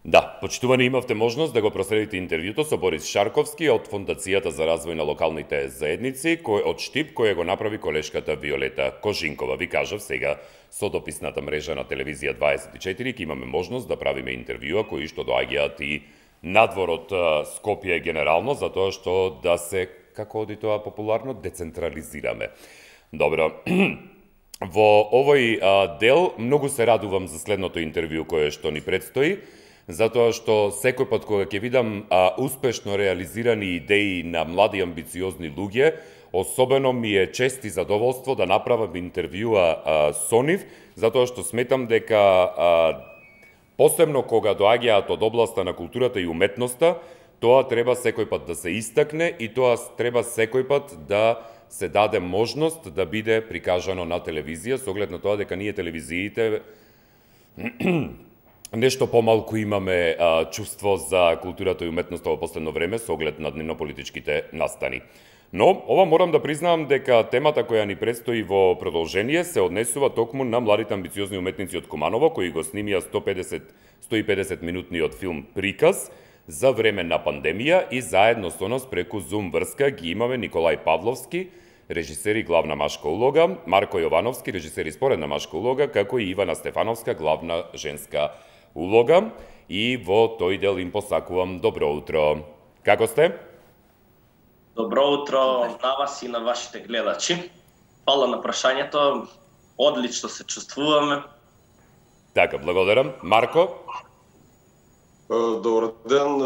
Да, почитувани, имавте можност да го проследите интервјуто со Борис Шарковски од Фондацијата за развој на локалните заедници, од Штип, кој го направи колешката Виолета Кожинкова. Ви кажав сега, со дописната мрежа на Телевизија 24, ке имаме можност да правиме интервјуа кои што доаѓаат и надвор од Скопје генерално, затоа што да се, како оди тоа популарно, децентрализираме. Добро. Во овој дел многу се радувам за следното интервју кое што ни предстои, затоа што секој пат кога ќе видам успешно реализирани идеи на млади амбициозни луѓе, особено ми е чест и задоволство да направам интервјуа со нив, затоа што сметам дека посебно кога доаѓаат од областа на културата и уметноста, тоа треба секој пат да се истакне и тоа треба секој пат да се даде можност да биде прикажано на телевизија, со оглед на тоа дека ние телевизиите нешто помалку имаме чувство за културата и уметноста во последно време со оглед на дневнополитичките настани. Но, ова морам да признавам дека темата која ни предстои во продолжение се однесува токму на младите амбициозни уметници од Куманово, кои го снимија 150 минутниот филм Приказ за време на пандемија и заедно со нас преку Zoom врска ги имаме Николај Павловски, режисер и главна машка улога, Марко Јовановски, режисер и споредна машка улога, како и Ивана Стефановска, главна женска улога, и во тој дел им посакувам добро утро. Како сте? Добро утро на вас и на вашите гледачи. Фала на прашањето. Одлично се чувствуваме. Така, благодарам. Марко? Добар ден,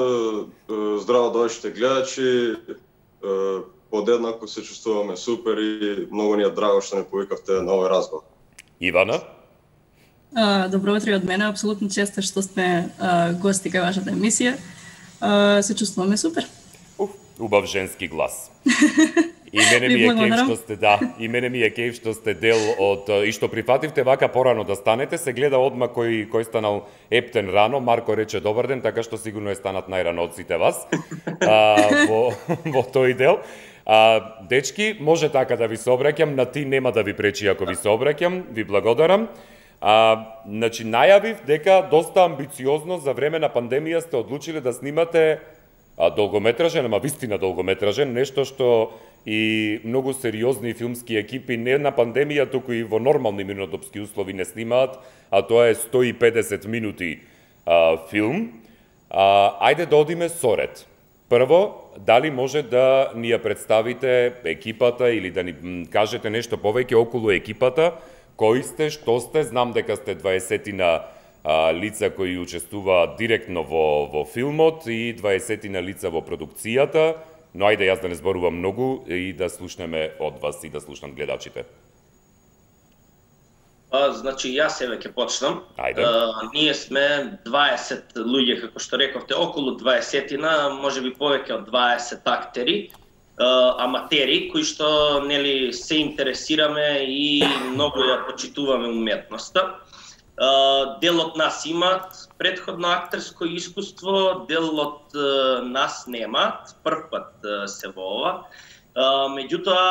здраво до вашите гледачи. Подеднако се чувствуваме супер и многу ни е драго што не повикавте на овој разговор. Ивана? Добро утро од мене, апсолутно честа што сме гости кај вашата емисија. Се чувствуваме супер. Убав женски глас. И мене ми е кејф што сте, и мене ми е кејф што сте дел од и што прифативте вака порано да станете. Се гледа одма кој станал ептен рано. Марко рече добар ден, така што сигурно е станат најрано од сите вас. Во тој дел. Дечки, може така да ви се обраќам, на ти нема да ви пречи ако ви се обраќам. Ви благодарам. Значи, најавив дека доста амбициозно за време на пандемија сте одлучили да снимате долгометражен, ама вистина долгометражен, нешто што и многу сериозни филмски екипи не на пандемија, туку и во нормални минотопски услови не снимаат, а тоа е 150 минути филм. Ајде да одиме соред. Прво, дали може да ни ја представите екипата или да ни кажете нешто повеќе околу екипата, кои сте, што сте, знам дека сте 20 лица кои учествуваат директно во филмот и 20 лица во продукцијата, но ајде јас да не зборувам многу и да слушнеме од вас и да слушнат гледачите. Значи, јас еве ќе почнам. Ајде. Ние сме 20 луѓе, како што рековте, околу 20-тина, можеби повеќе од 20 актери, аматери, кои што нели се интересираме и многу ја почитуваме уметноста. Дел од нас имаат претходно актерско искуство, дел од нас немаат, прв пат се во ова. Меѓутоа,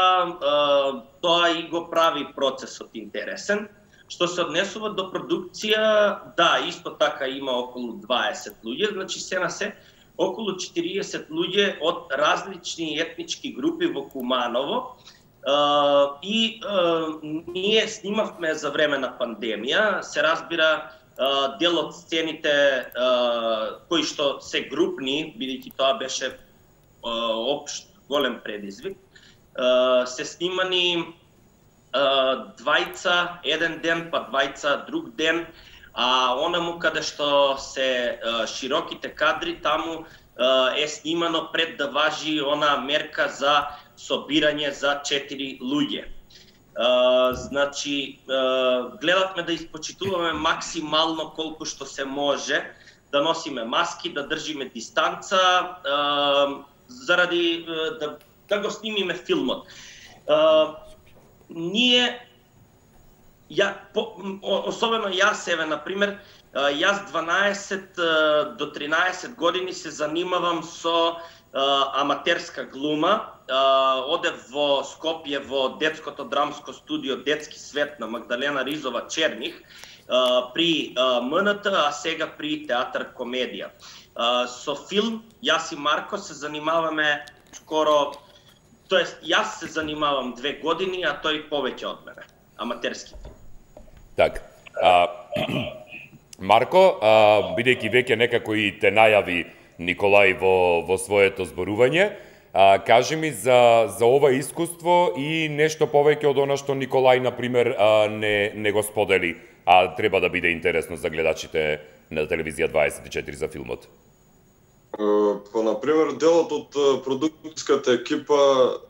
тоа и го прави процесот интересен. Што се однесува до продукција, да, исто така има околу 20 луѓе, значи се на се околу 40 луѓе од различни етнички групи во Куманово. И ние снимавме за време на пандемија, се разбира дел од сцените кои што се групни, бидејќи тоа беше општ голем предизвик, се снимани двајца еден ден, па двајца друг ден, а онаму каде што се широките кадри, таму е снимано пред да важи она мерка за собирање за 4 луѓе. Значи, гледавме да испочитуваме максимално колку што се може, да носиме маски, да држиме дистанца, заради да го снимиме филмот. Ние, особено јас, еве, например, јас 12 до 13 години се занимавам со аматерска глума. Одев во Скопје во детското драмско студио Детски свет на Магдалена Ризова Черних. при МНТ, а сега при театар комедија. Со филм, јас и Марко се занимаваме скоро, тоест јас се занимавам 2 години, а тој повеќе од мене, аматерски филм. Так, Марко, бидејќи веќе некако и те најави Николај во своето зборување, кажи ми за ова искуство и нешто повеќе од она што Николај, например, не го сподели, а треба да биде интересно за гледачите на телевизија 24 за филмот. Например, делот од продукцијската екипа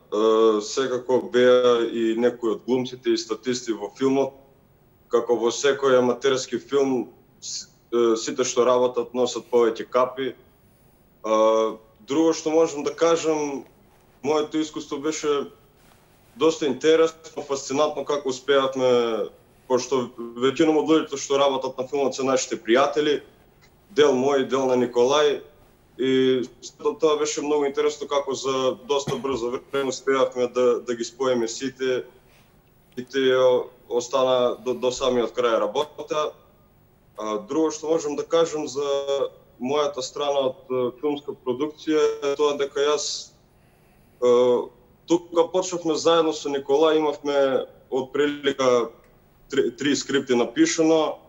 секако беа и некои од глумците и статисти во филмот, како во секој аматерски филм, сите што работат носат повеќе капи. Друго што можам да кажам, моето искуство беше доста интересно, фасцинантно како успеавме, пошто веќином од луѓето што работат на филмот се нашите пријатели, дел мој, дел на Николај, и тоа беше многу интересно како за доста брзо време успеавме да ги споиме сите, и те остана до самиот крај работата. Друго што можам да кажам за мојата страна од филмска продукција е тоа дека јас тука почнавме заедно со Николај, имавме од прилика 3 скрипти напишано,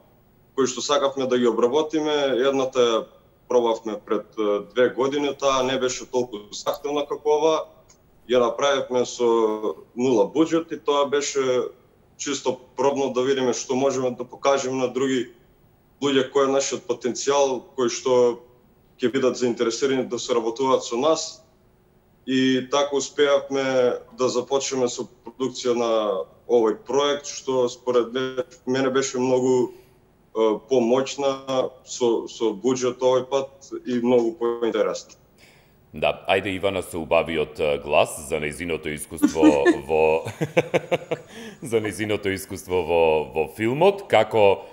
кои што сакавме да ги обработиме. Едната ја пробавме пред 2 години, таа не беше толку захтевна како ова. Ја направивме со 0 буџет и тоа беше чисто пробно да видиме што можеме да покажеме на други луѓе, кој е нашиот потенцијал, кои што ќе бидат заинтересирани да соработуваат со нас. И така успеавме да започнеме со продукција на овој проект, што според мене беше многу помоćна, со буџет овој пат и многу поинтересно. Да, ајде Ивана се убави од глас за нејзиното искуство во за нејзиното искуство во филмот, како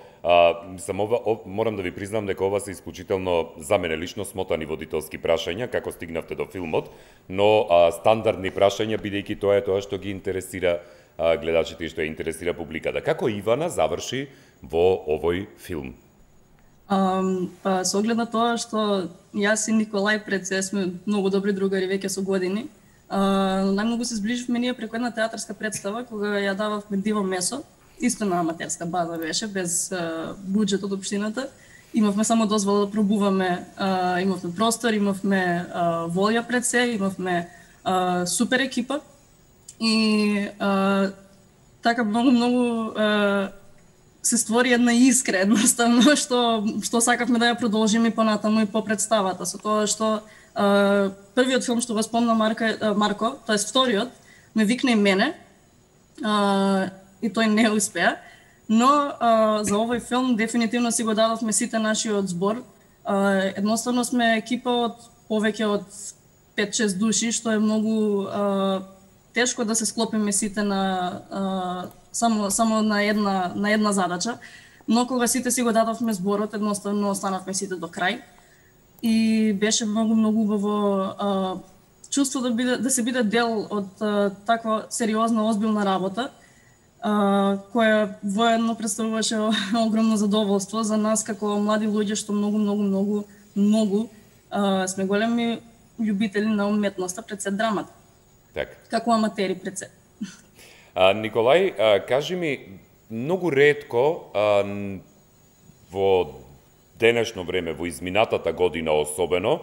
морам да ви признам дека ова се исклучително за мене лично смотани водителски прашања, како стигнавте до филмот, но стандардни прашања, бидејќи тоа е тоа што ги интересира гледачите и што ја интересира публиката. Како Ивана заврши во овој филм? Со оглед на тоа што јас и Николај пред се сме многу добри другари веќе со години, најмногу се зближивме ние преку една театарска представа кога ја дававме Диво месо, исто на аматерска база беше, без буџет од општината. Имавме само дозвола да пробуваме, имавме простор, имавме волја пред се, имавме супер екипа и така многу се створи една искра едноставно што сакавме да ја продолжиме и понатаму и по представата, со тоа што првиот филм што го спомна Марко, тоест вториот, ме викна и мене, и тој не успеа, но за овој филм дефинитивно си го дадовме сите нашиот збор. Едноставно сме екипа од повеќе од 5-6 души, што е многу тешко да се склопиме сите на само на една задача, но кога сите си го дадовме зборот, едноставно останавме сите до крај и беше многу убаво чувство да се биде дел од таква сериозна, озбилна работа, која воедно представуваше огромно задоволство за нас како млади луѓе што многу сме големи љубители на уметноста, пред се драмата. Так. Како аматери пред се. Николај, кажи ми, многу ретко во денешно време, во изминатата година особено,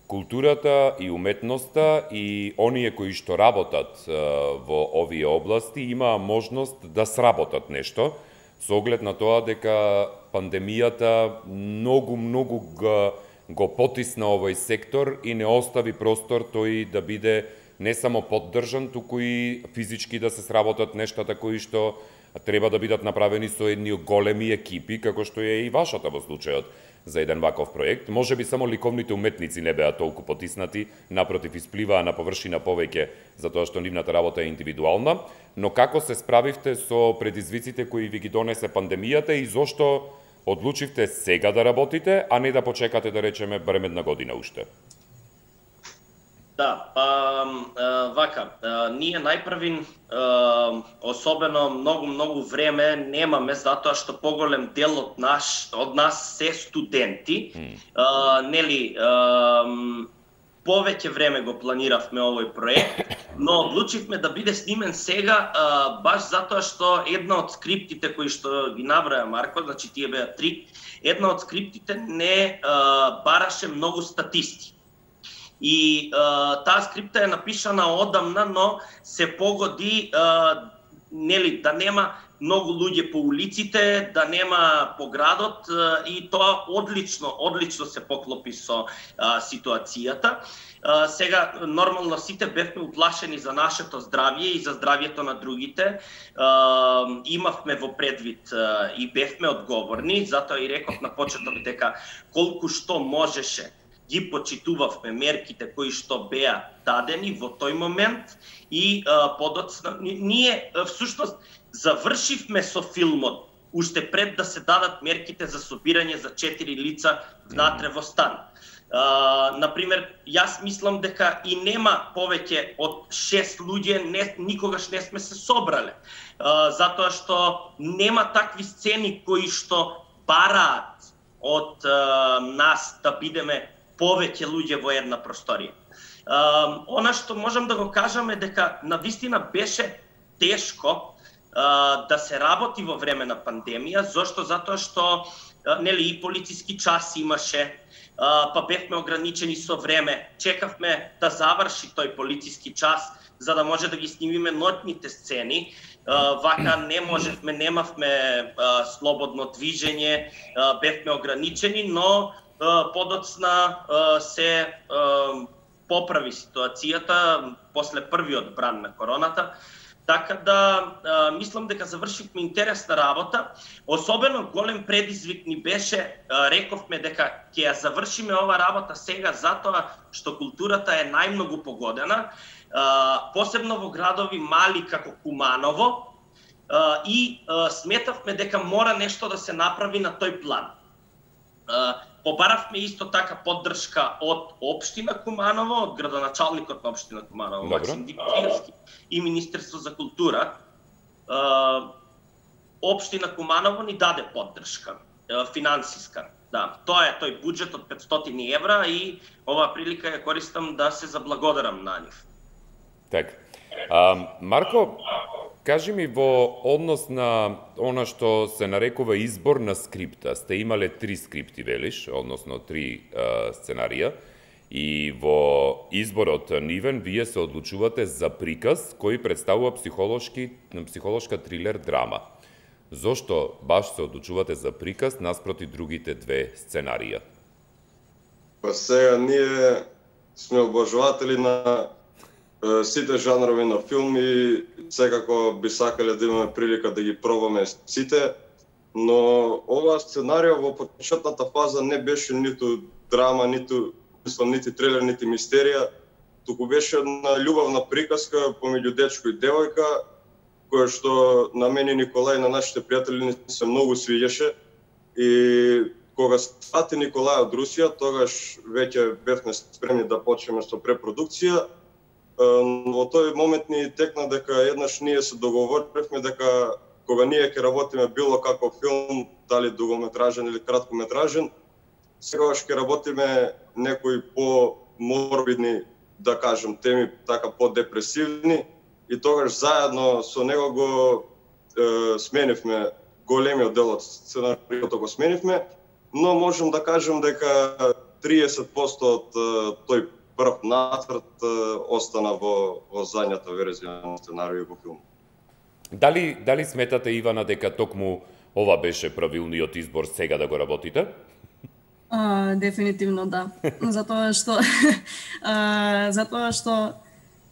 културата и уметноста и оние кои што работат во овие области имаа можност да сработат нешто, со оглед на тоа дека пандемијата многу го потисна овој сектор и не остави простор тој да биде не само поддржан, туку и физички да се сработат нештата кои што треба да бидат направени со едни големи екипи, како што е и вашата во случајот за еден ваков проект. Може би само ликовните уметници не беа толку потиснати, напротив испливаа на површина повеќе, затоа што нивната работа е индивидуална, но како се справивте со предизвиците кои ви ги донесе пандемијата и зошто одлучивте сега да работите, а не да почекате, да речеме, барем една година уште? Да, вака, ние најпрвин, особено многу време немаме, затоа што поголем дел од нас се студенти, нели, повеќе време го планиравме овој проект, но одлучивме да биде снимен сега, баш затоа што една од скриптите кои што ги наброја Марко, значи тие беа 3, една од скриптите не бараше многу статисти. И таа скрипта е напишана одамна, но се погоди нели да нема многу луѓе по улиците, да нема по градот и тоа одлично се поклопи со ситуацијата. Сега нормално сите бевме уплашени за нашето здравје и за здравјето на другите. Имавме во предвид и бевме одговорни, затоа и реков на почеток дека колку што можеше ги почитувавме мерките кои што беа дадени во тој момент и подоцна ние всушност завршивме со филмот уште пред да се дадат мерките за собирање за 4 лица внатре во стан. Например, јас мислам дека и нема повеќе од 6 луѓе, никогаш не сме се собрале, затоа што нема такви сцени кои што бараат од нас да бидеме повеќе луѓе во една просторија. Она што можам да го кажам е дека навистина беше тешко да се работи во време на пандемија. Зошто? Затоа што нели и полициски час имаше, па бевме ограничени со време. Чекавме да заврши тој полициски час за да може да ги снимиме ноќните сцени. Вака не можевме, немавме слободно движење, бевме ограничени, но подоцна се поправи ситуацијата после првиот бран на короната. Така да мислам дека завршивме интересна работа. Особено голем предизвик ни беше, рековме дека ќе ја завршиме ова работа сега затоа што културата е најмногу погодена, посебно во градови мали како Куманово, и сметавме дека мора нешто да се направи на тој план. Побаравме исто така поддршка од општина Куманово, од градоначалникот на општина Куманово, Максим Димитриевски, и Министерство за култура. Општина Куманово ни даде поддршка, финансиска. Да, тоа е тој буџет од 500 евра и оваа прилика ја користам да се заблагодарам на нив. Така. Марко, кажи ми во однос на она што се нарекува избор на скрипта. Сте имале 3 скрипти, велиш, односно 3 сценарија, и во изборот нивен вие се одлучувате за приказ кој представува психолошка трилер драма. Зошто баш се одлучувате за приказ наспроти другите 2 сценарија? Па сега ние сме обожаватели на сите жанрови на филм и секако би сакале да имаме прилика да ги пробаме сите, но оваа сценарија во почетната фаза не беше ниту драма, ниту трилер, нити мистерија, туку беше една љубавна приказка помеѓу дечко и девојка, која што на мене Николај и на нашите пријатели се многу свиѓаше. И кога стати Николај од Русија, тогаш веќе бевме спремни да почнеме со препродукција. Во тој момент ни текна дека еднаш ние се договоривме дека кога ние ќе работиме било каков филм, дали дугометражен или краткометражен, секогаш ќе работиме некои по-морбидни, да кажем, теми, така по-депресивни, и тогаш заедно со него го сменивме големиот дел од сценариото го сменивме, но можам да кажем дека 30% од тој прв нацрт остана во задњата верзија на сценаријот во филм. Дали сметате, Ивана, дека токму ова беше правилниот избор сега да го работите? Дефинитивно да. Затоа што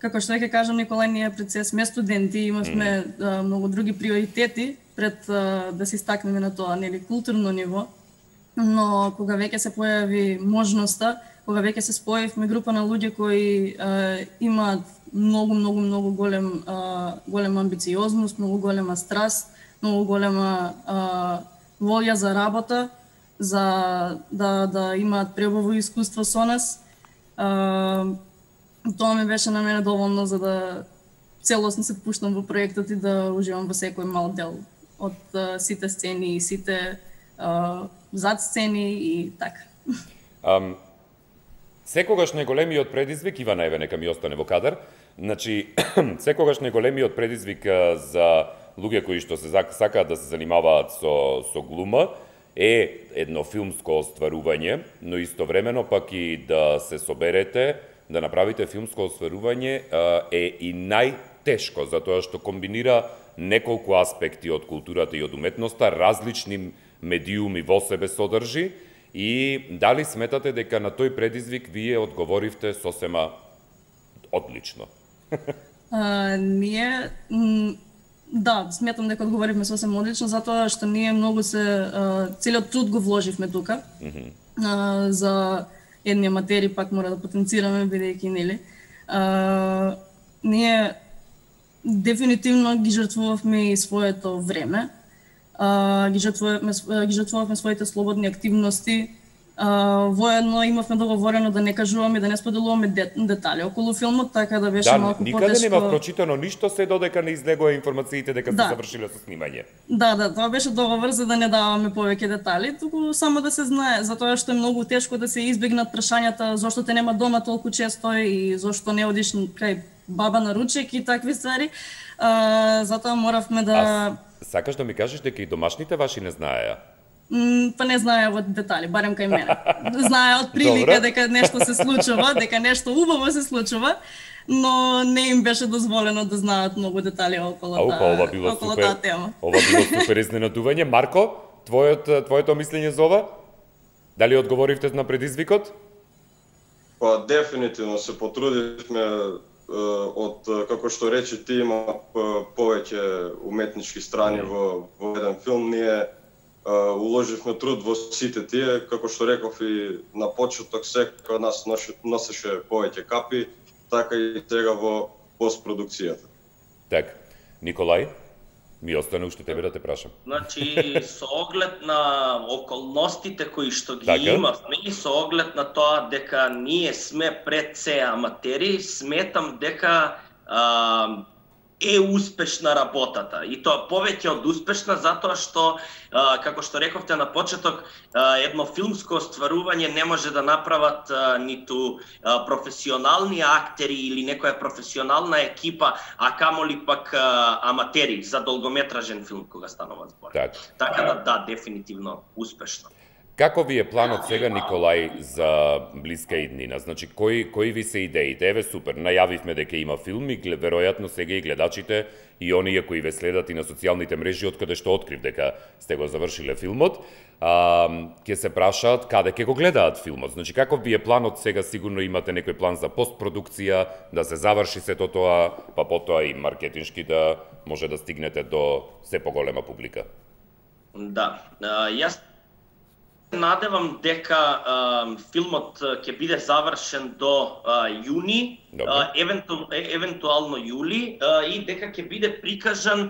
како што ќе кажам, Николај, ние пред се сме студенти, имавме многу други приоритети пред да се истакнеме на тоа, нели, културно ниво, но кога веќе се појави можноста, кога веќе се споевме група на луѓе кои имаат многу голема амбициозност, многу голема страст, многу голема волја за работа, за да имаат пребово искуство со нас. Тоа ми беше на мене доволно за да целосно се пуштам во проектот и да уживам во секој мал дел од сите сцени и сите зад сцени и така. Секогаш најголемиот предизвик, Ивана еве нека ми остане во кадар, значи секогаш најголемиот предизвик за луѓе кои што се сакаат да се занимаваат со глума е едно филмско остварување, но истовремено пак и да се соберете, да направите филмско остварување е и најтешко, затоа што комбинира неколку аспекти од културата и од уметноста, различни медиуми во себе содржи, и дали сметате дека на тој предизвик вие одговоривте сосема одлично? Ние, да, сметам дека одговоривме сосема одлично, затоа што ние многу целиот труд го вложивме тука. За едни аматери пак мора да потенцираме, бидејќи, нели, ние дефинитивно ги жртвувавме и своето време, ги жртвувавме своите слободни активности. Воедно имавме договорено да не кажуваме, да не споделуваме детали околу филмот, така да беше малку потешко. Никаде нема прочитано ништо се додека не излегува информациите дека се завршиле со снимање. Да, тоа беше договор за да не даваме повеќе детали, туку само да се знае, затоа што е многу тешко да се избегнат прашањата зошто те нема дома толку често и зошто не одиш кај баба на ручек и такви ствари. Затоа моравме да... Сакаш да ми кажеш дека и домашните ваши не знаеа? Па не знаеа во детали, барем кај мене. Знаеа од прилика дека нешто се случува, дека нешто убаво се случува, но не им беше дозволено да знаат многу детали околу таа тема. Ова било супер изненадување. Марко, твоето мислење за ова? Дали одговоривте на предизвикот? Па дефинитивно се потрудивме. Од, како што рече ти, има повеќе уметнички страни во еден филм. Ние уложивме труд во сите тие, како што реков и на почеток, секој од нас носеше повеќе капи, така и сега во постпродукцијата. Так, Николај, ми остане уште тебе да те прашам. Значи, со оглед на околностите кои што ги имавме и со оглед на тоа дека ние сме пред се аматери, сметам дека е успешна работата. И тоа повеќе од успешна, затоа што, како што рековте на почеток, едно филмско остварување не може да направат ниту професионални актери или некоја професионална екипа, а камоли пак аматери за долгометражен филм кога станува збор. Така да, дефинитивно успешно. Како ви е планот сега, Николај, за блиска иднина? Значи, кои ви се идеите? Еве, супер, најавивме дека има филм и веројатно сега и гледачите и оние кои ве следат и на социјалните мрежи од каде што открив дека сте го завршиле филмот, ќе се прашаат каде ќе го гледаат филмот. Значи, каков ви е планот сега? Сигурно имате некој план за постпродукција, да се заврши сето тоа, па потоа и маркетиншки да може да стигнете до се поголема публика. Да, јас надевам дека филмот ќе биде завршен до јуни, евентуално јули, и дека ќе биде прикажан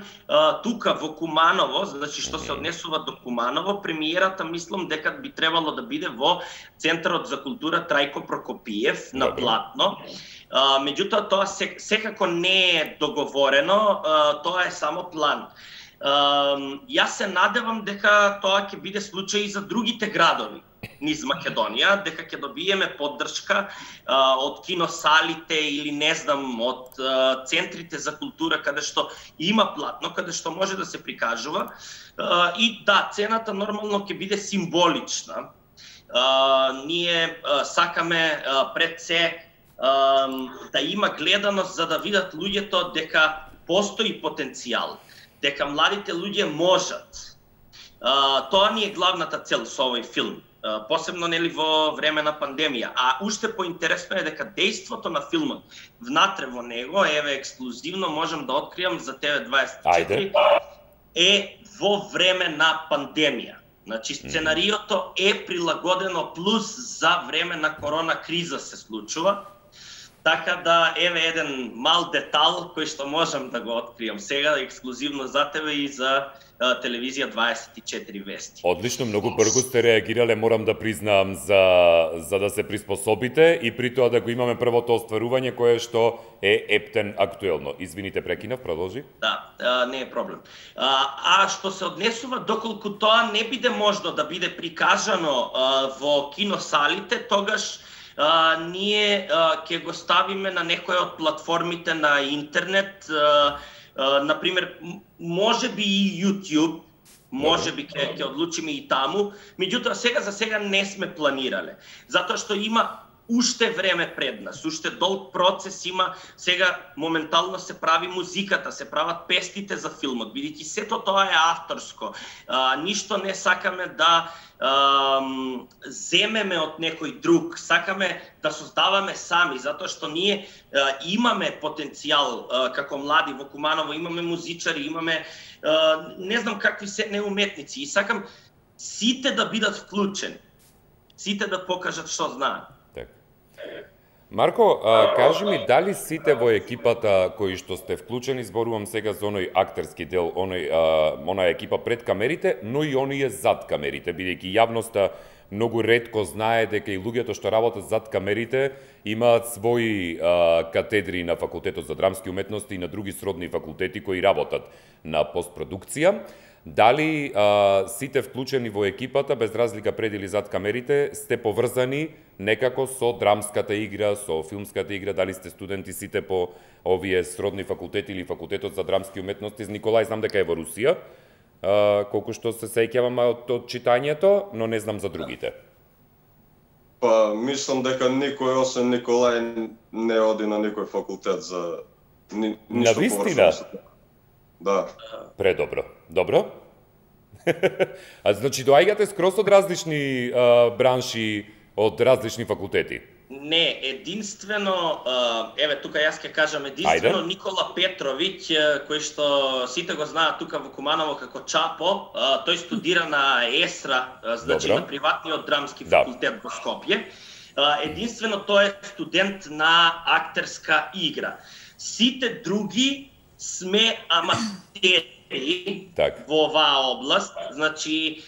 тука во Куманово, значи што се однесува до Куманово. Премиерата мислам дека би требало да биде во Центарот за култура Трајко Прокопиев на платно. Меѓутоа тоа секако не е договорено, тоа е само план. Јас се надевам дека тоа ќе биде случај и за другите градови низ Македонија, дека ќе добиеме поддршка од киносалите или не знам, од центрите за култура каде што има платно, каде што може да се прикажува. И да, цената нормално ќе биде символична. Ние сакаме пред се да има гледаност за да видат луѓето дека постои потенцијал, дека младите луѓе можат. Тоа ни е главната цел со овој филм, посебно нели во време на пандемија. А уште поинтересно е дека дејството на филмот внатре во него, еве ексклузивно можам да откриам за TV24, е во време на пандемија. Значи сценариото е прилагодено плюс за време на корона криза се случува. Така да, еве еден мал детал кој што можам да го откријам сега ексклузивно за тебе и за телевизија 24 вести. Одлично, многу брзо сте реагирале, морам да признам, за да се приспособите и при тоа да го имаме првото остварување кое што е ептен актуелно. Извините, прекинав, продолжи. Да, не е проблем. А што се однесува доколку тоа не биде можно да биде прикажано во киносалите, тогаш ние ќе го ставиме на некоја од платформите на интернет, например, можеби и YouTube, можеби ќе одлучиме и таму, меѓутоа за сега не сме планирале, затоа што има уште време пред нас, уште долг процес има, сега моментално се прави музиката, се прават песните за филмот, бидејќи сето тоа е авторско. Ништо не сакаме да земеме од некој друг, сакаме да создаваме сами, затоа што ние имаме потенцијал како млади во Куманово, имаме музичари, имаме не знам какви се неуметници и сакам сите да бидат вклучени, сите да покажат што знаат. Марко, кажи ми, дали сите во екипата кои што сте вклучени, зборувам сега за оној актерски дел, онаа екипа пред камерите, но и оние зад камерите, бидејќи јавноста многу ретко знае дека и луѓето што работат зад камерите имаат своји катедри на Факултетот за драмски уметности и на други сродни факултети кои работат на постпродукција. Дали сите вклучени во екипата, без разлика пред или зад камерите, сте поврзани некако со драмската игра, со филмската игра, дали сте студенти сите по овие сродни факултети или Факултетот за драмски уметности? Николај знам дека е во Русија, колку што се сеќавам од читањето, но не знам за другите. Па, мислам дека никој освен Николај не оди на никој факултет за ништо поврзано. Да. Предобро. Добро? Значи, доаѓате скроз од различни бранши, од различни факултети? Не, единствено, еве тука јас ќе кажам, единствено Никола Петровиќ, кој што сите го знаат тука во Куманово како Чапо, тој студира на ЕСРА, значи на приватниот драмски факултет во Скопје. Единствено тој е студент на актерска игра. Сите други сме аматери во оваа област, значи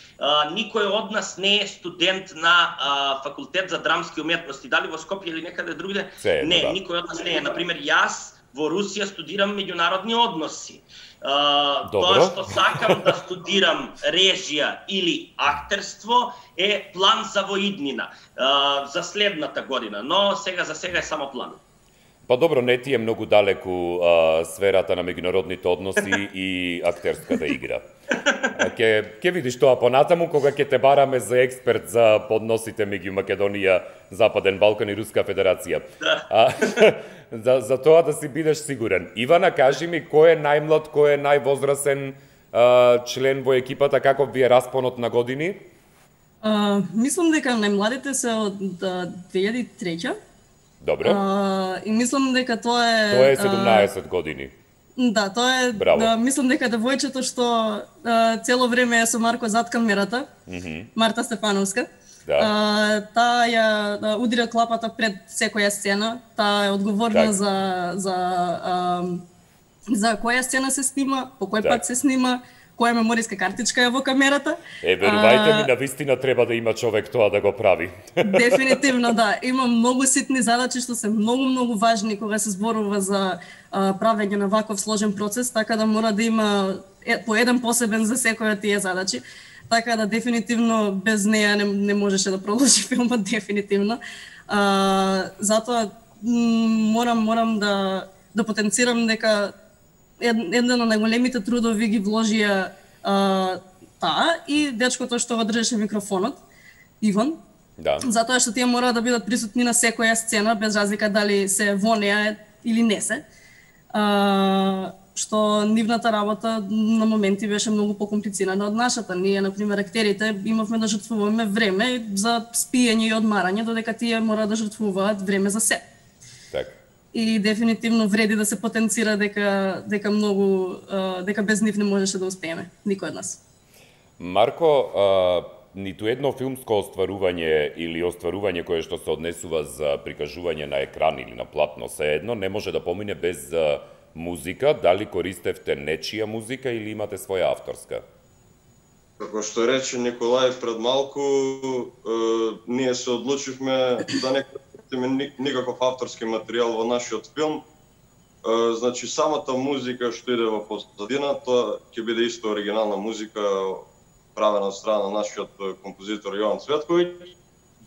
никој од нас не е студент на Факултет за драмски уметности, дали во Скопје или некаде другаде. Не, никој од нас не е. Например, јас во Русија студирам меѓународни односи. Тоа што сакам да студирам режија или актерство е план за воиднина за следната година, но за сега е само план. Па добро, не ти е многу далеку сферата на меѓународните односи и актерската игра. Ке видиш тоа понатаму кога ќе те бараме за експерт за подносите меѓу Македонија, Западен Балкан и Руска Федерација. За тоа да си бидеш сигурен. Ивана, кажи ми, кој е најмлад, кој е највозрасен член во екипата, каков ви е распонот на години? Мислам дека најмладите се од 2003. Добро. И мислам дека тоа е... Тоа е 17 години. Да, тоа е... мислам дека девојчето што цело време е со Марко зад камерата, Марта Стефановска, таа ја удира клапата пред секоја сцена, таа е одговорна за која сцена се снима, по кој пат се снима, која мемориска картичка е во камерата. Верувајте ми, навистина треба да има човек тоа да го прави. Дефинитивно, да. Има многу ситни задачи што се многу важни кога се зборува за правење на ваков сложен процес, така да мора да има по еден посебен за секоја тие задачи. Така да дефинитивно без неја не можеше да продолжи филмот, дефинитивно. Затоа морам да потенцирам дека една од најголемите трудови ги вложија таа и дечкото што го држеше микрофонот, Иван. Да. Затоа што тие мора да бидат присутни на секоја сцена, без разлика дали се во неа или не се. Што нивната работа на моменти беше многу покомплицирана од нашата. Ние, например, актерите имавме да жртвуваме време за спиење и одмарање, додека тие мора да жртвуваат време за се. Така. И дефинитивно вреди да се потенцира дека без нив не можеше да успееме, никој од нас. Марко, ниту едно филмско остварување или остварување кое што се однесува за прикажување на екран или на платно, едно не може да помине без музика. Дали користевте нечија музика или имате своја авторска? Како што рече Николај пред малку, ние се одлучивме да не користиме никаков авторски материјал во нашиот филм. Значи, самата музика што иде во позадина, тоа ќе биде исто оригинална музика правена од страна на нашиот композитор Јован Цветковиќ.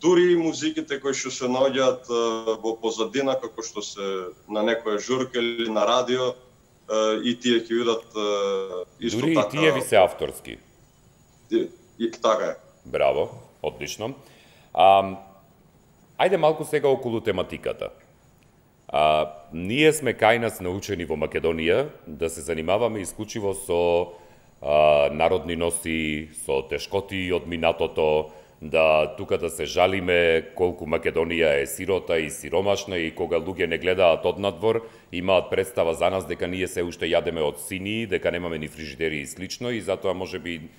Дури и музиките кои што се наоѓаат во позадина, како што се на некоја журка или на радио, и тие ќе бидат исто дури така... Дури и тие ви се авторски? И така е. Браво, одлично. Ајде малку сега околу тематиката. Ние сме кај нас научени во Македонија да се занимаваме исклучиво со народни носи, со тешкоти од минатото, да тука да се жалиме колку Македонија е сирота и сиромашна и кога луѓе не гледаат однадвор, имаат представа за нас дека ние се уште јадеме од сини, дека немаме ни фрижидери и слично и затоа можеби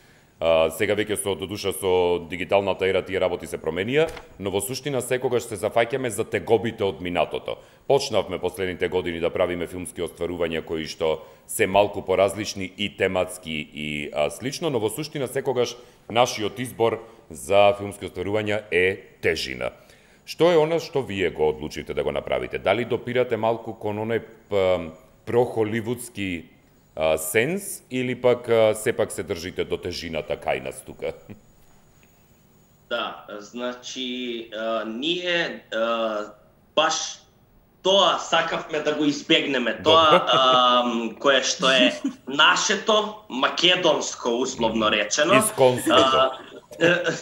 сега веќе до душа со дигиталната ера тие работи се променија, но во суштина секогаш се зафаќаме за тегобите од минатото. Почнавме последните години да правиме филмски остварувања кои што се малку поразлични и тематски и слично, но во суштина секогаш нашиот избор за филмски остварувања е тежина. Што е она што вие го одлучите да го направите? Дали допирате малку кон оној прохоливудски сенс или пак сепак се држите до тежината кај нас тука? Да, значи ние баш тоа сакавме да го избегнеме, тоа кое што е нашето, македонско условно речено. Исконството.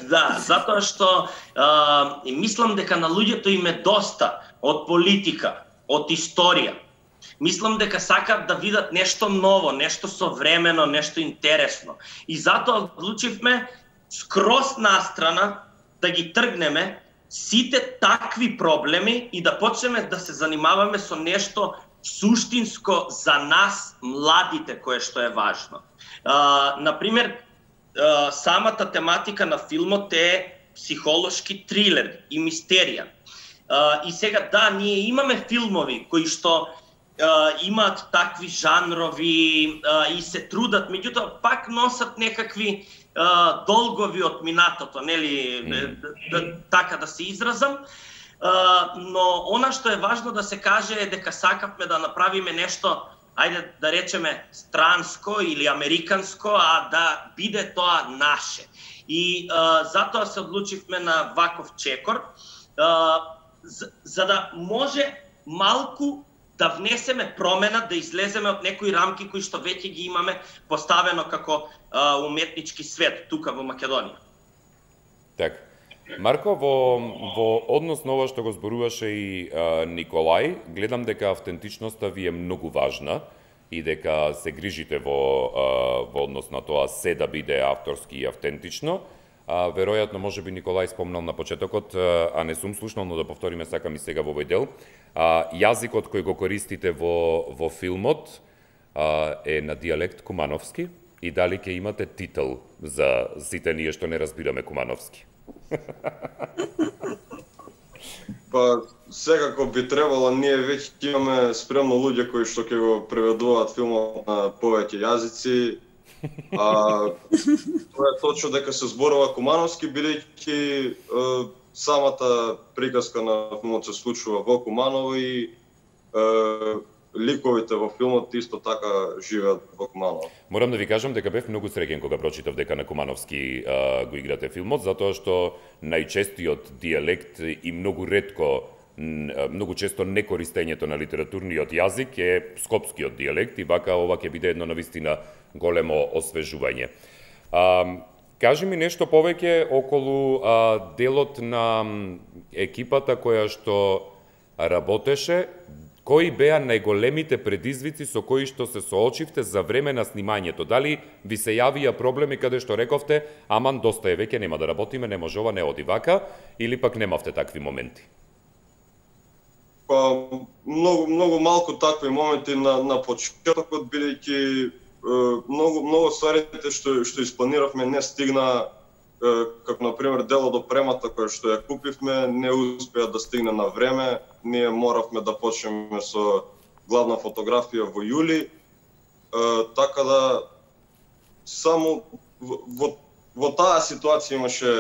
Да, затоа што мислам дека на луѓето им е доста од политика, од историја. Мислам дека сакаат да видат нешто ново, нешто современо, нешто интересно. И затоа одлучивме скроз настрана да ги тргнеме сите такви проблеми и да почнеме да се занимаваме со нешто суштинско за нас, младите, кое што е важно. Например, самата тематика на филмот е психолошки трилер и мистерија. И сега, да, ние имаме филмови кои што имаат такви жанрови и се трудат, меѓутоа пак носат некакви долгови од минатото, нели, така да се изразам. Но она што е важно да се каже е дека сакавме да направиме нешто, ајде да речеме странско или американско, а да биде тоа наше. И затоа се одлучивме на ваков чекор, за да може малку да внесеме промена, да излеземе од некои рамки кои што веќе ги имаме поставено како уметнички свет тука во Македонија. Так. Марко, во однос на ова што го зборуваше и Николај, гледам дека автентичноста ви е многу важна и дека се грижите во однос на тоа се да биде авторски и автентично. Веројатно, може би Николај спомнал на почетокот, а не сум слушнал, но да повториме сакам и сега во овој дел. Јазикот кој го користите во филмот е на дијалект кумановски и дали ќе имате титул за сите ние што не разбираме кумановски? Па, секако би требало, ние веќе имаме спремно луѓе кои што ќе го преведуваат филмот на повеќе јазици. Тоа е точно дека се зборува кумановски, бидејќи самата приказка на филмот се случува во Куманово и ликовите во филмот исто така живеат во Куманово. Морам да ви кажам дека бев многу среќен кога прочитав дека на кумановски го играте филмот, затоа што најчестиот дијалект и многу ретко, многу често некористењето на литературниот јазик е скопскиот дијалект и вака ова ќе биде едно навистина големо освежување. Кажи ми нешто повеќе околу делот на екипата која што работеше. Кои беа најголемите предизвици со кои што се соочивте за време на снимањето? Дали ви се јавија проблеми каде што рековте, аман доста е веќе, нема да работиме, не може ова, не оди вака, или пак немавте такви моменти? Па, многу малку такви моменти на почетокот, бидејќи многу стварите што испланиравме не стигна како например дело до премата која што ја купивме не успеа да стигне на време. Ние моравме да почнеме со главна фотографија во јули. Така да само во таа ситуација имаше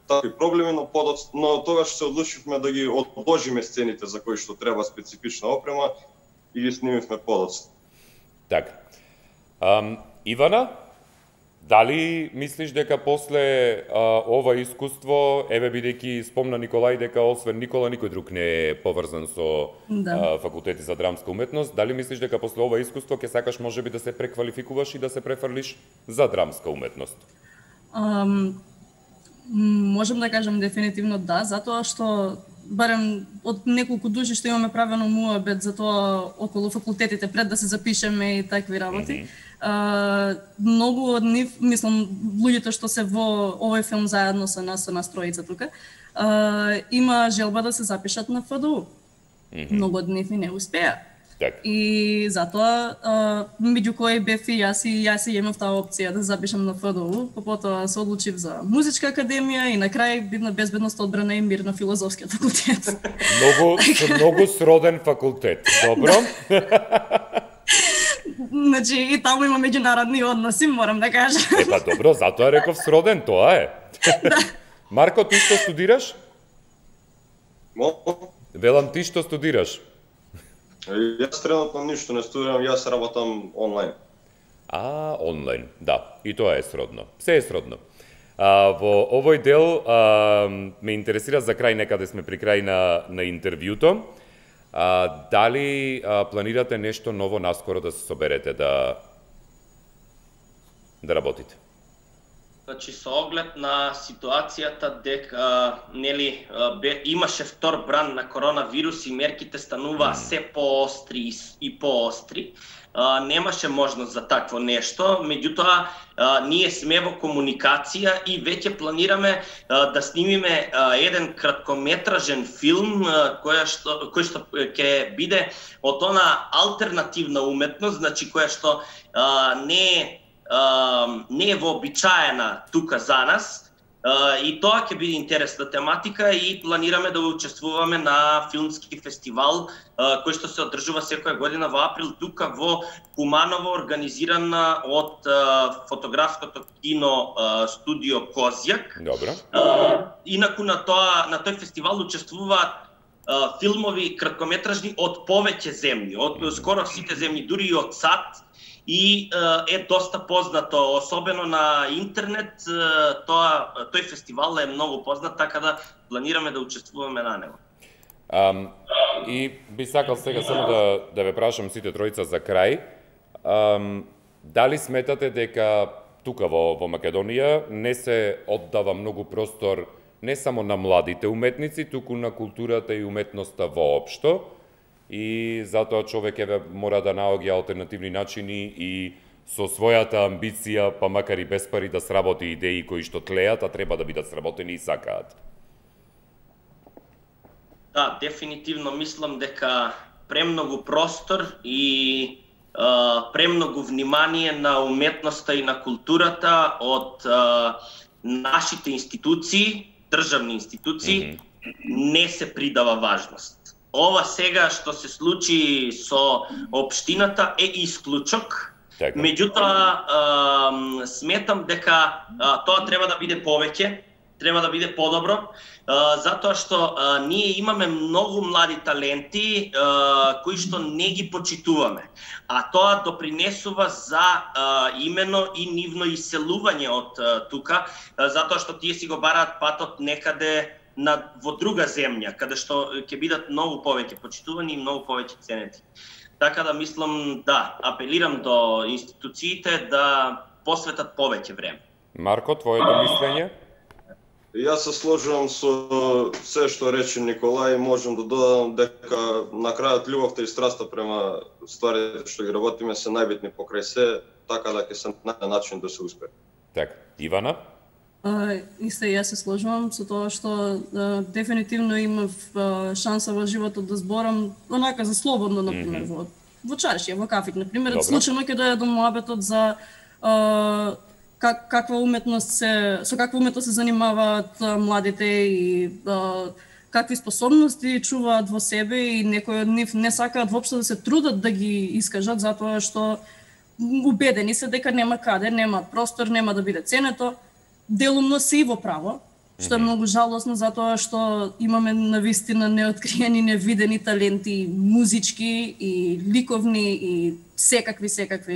такви проблеми, но тогаш се одлучивме да ги одложиме сцените за кои што треба специфична опрема и ги снимивме подоцна. Така. Ивана, дали мислиш дека после ова искуство, еве бидејќи спомна Николај дека освен Никола никој друг не е поврзан со факултети за драмска уметност, дали мислиш дека после ова искуство ќе сакаш можеби да се преквалификуваш и да се префрлиш за драмска уметност? Можам да кажам дефинитивно да, затоа што барем од неколку души што имаме правено муабет за тоа околу факултетите пред да се запишеме и такви работи. Многу од нив, мислам, луѓето што се во овој филм заедно со нас тројица тука, има желба да се запишат на ФДУ. Многу од нив и не успеа. Так. И затоа, меѓу кои бев и јас имав таа опција да запишам на ФДУ, потоа се одлучив за музичка академија и на крај бидна безбедност, одбрана и мир на филозофскиот факултет. Многу сроден факултет. Добро. Значи, и таму има меѓународни односи, морам да кажам. Епа добро, затоа реков сроден, тоа е. Да. Марко, ти што студираш? Молко? Велам, ти што студираш? Јас тренутно ништо не студирам, јас работам онлайн. Онлайн, да, и тоа е сродно. Се е сродно. Во овој дел ме интересира за крај, некаде сме при крај на интервјуто. Дали планирате нешто ново наскоро да се соберете да работите? Значи, со оглед на ситуацијата дека имаше втор бран на коронавирус и мерките стануваа се поостри и поостри, немаше можност за такво нешто, меѓутоа ние сме во комуникација и веќе планираме да снимиме еден краткометражен филм кој што ќе биде од она алтернативна уметност, значи која што не е вообичаена тука за нас, и тоа ќе биде интересна тематика и планираме да учествуваме на филмски фестивал кој што се одржува секоја година во април тука во Куманово, организирана од фотографското кино студио Козјак. Добро. Инаку на тој фестивал учествуваат филмови краткометражни од повеќе земји, од скоро сите земји, дури и од САД, и е доста познато, особено на интернет, тој фестивал е многу познат, така да планираме да учествуваме на него. И би сакал сега само да ве прашам сите тројца за крај, дали сметате дека тука во Македонија не се оддава многу простор не само на младите уметници, туку на културата и уметноста воопшто, и затоа човек мора да наоѓа алтернативни начини и со својата амбиција, па макар и без пари, да сработи идеи кои што тлеат, а треба да бидат сработени и сакаат? Да, дефинитивно мислам дека премногу простор и премногу внимание на уметноста и на културата од нашите институции, државни институции, не се придава важност. Ова сега што се случи со општината е исклучок, меѓутоа сметам дека тоа треба да биде повеќе, треба да биде подобро, затоа што ние имаме многу млади таленти кои што не ги почитуваме, а тоа допринесува за имено и нивно иселување од тука, затоа што тие си го бараат патот некаде во друга земја, каде што ќе бидат многу повеќе почитувани и многу повеќе ценети. Така да мислам, да, апелирам до институциите да посветат повеќе време. Марко, твоето мислење? Јас се сложувам со се што рече Николај, можам да додадам дека на крајот љубовта и страста према стварите што ги работиме се најбитни покрај се, така да ќе се најде начин да се успее. Така, Ивана? Исто и јас се сложувам со тоа што дефинитивно имав шанса во животот да зборам онака за слободно, например, во чашија, во кафик, например. Случајно ќе дојде до муабетот за каква уметност со каква уметност се занимаваат младите и какви способности чуваат во себе и некои од нив не сакаат воопшто да се трудат да ги искажат затоа што убедени се дека нема каде, нема простор, нема да биде ценето. Делумно се и во право, што е многу жалосно затоа што имаме навистина неоткриени, невидени таленти, музички и ликовни и секакви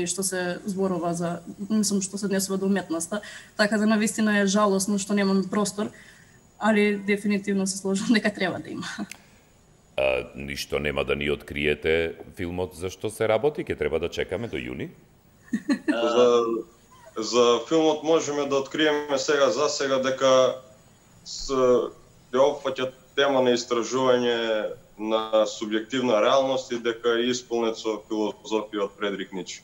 што се зборува за, мислам што се однесува до уметноста, така да навистина е жалосно што немаме простор, али дефинитивно се сложам дека треба да има. Ништо нема да ни откриете филмот за што се работи, ќе треба да чекаме до јуни? За филмот можеме да откриеме сега дека ќе опфаќа тема на истражување на субјективна реалност и дека е исполнет со филозофија од Фредрик Ницше.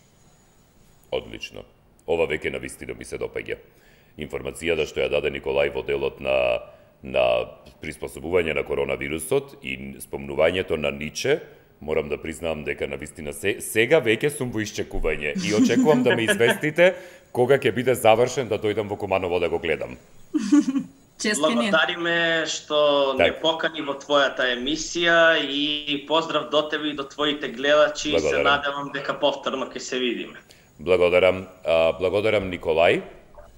Одлично. Ова веќе навистина ми се допаѓа. Информацијата што ја даде Николај во делот на приспособување на коронавирусот и спомнувањето на Ниче, морам да признавам дека навистина сега веќе сум во исчекување и очекувам да ме известите кога ќе биде завршен да дојдам во Куманово да го гледам. Благодариме што не покани во твојата емисија и поздрав до тебе и до твоите гледачи. Се надевам дека повторно ќе се видиме. Благодарам Николај,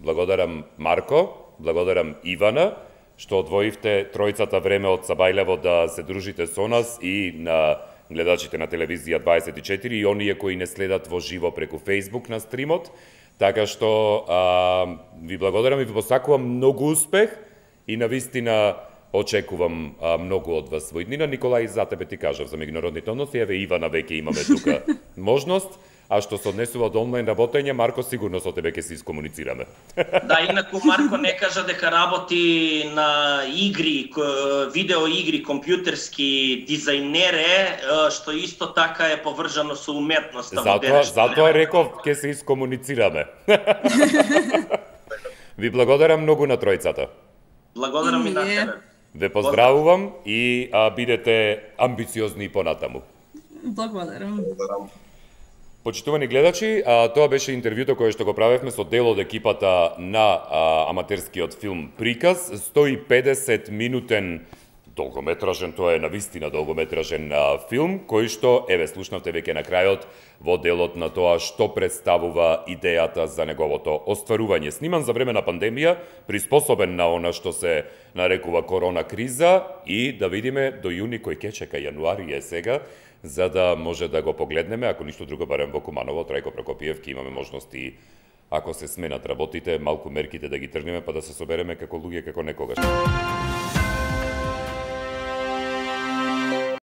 благодарам Марко, благодарам Ивана, што одвоивте тројцата време од Сабајлево да се дружите со нас и на гледачите на телевизија 24 и оние кои не следат во живо преку Facebook на стримот. Така што ви благодарам и ви посакувам многу успех и навистина очекувам многу од вас во иднина. Николај, за тебе ти кажав за меѓународните односи, еве Ивана веќе имаме тука можност. А што се однесува до онлайн работење, Марко, сигурно со тебе ќе се искомуницираме. Да, инаку Марко не кажа дека работи на игри, видео игри, компјутерски дизајнере, што исто така е поврзано со уметноста. Затоа реков ќе се искомуницираме. Ви благодарам многу на тројцата. Благодарам и на тебе. Ве поздравувам и бидете амбициозни понатаму. Благодарам. Почитувани гледачи, тоа беше интервјуто кое што го правевме со дел од екипата на аматерскиот филм Приказ. 150 минутен долгометражен, тоа е навистина долгометражен филм, кој што, еве, слушнавте веќе на крајот, во делот на тоа што представува идејата за неговото остварување. Сниман за време на пандемија, приспособен на она што се нарекува корона криза и да видиме до јуни кој ќе чека, јануари е сега, за да може да го погледнеме, ако ништо друго, барем во Куманово, Трајко Прокопиев, ќе имаме можности, ако се сменат работите, малку мерките да ги тргнеме, па да се собереме како луѓе, како некогаш.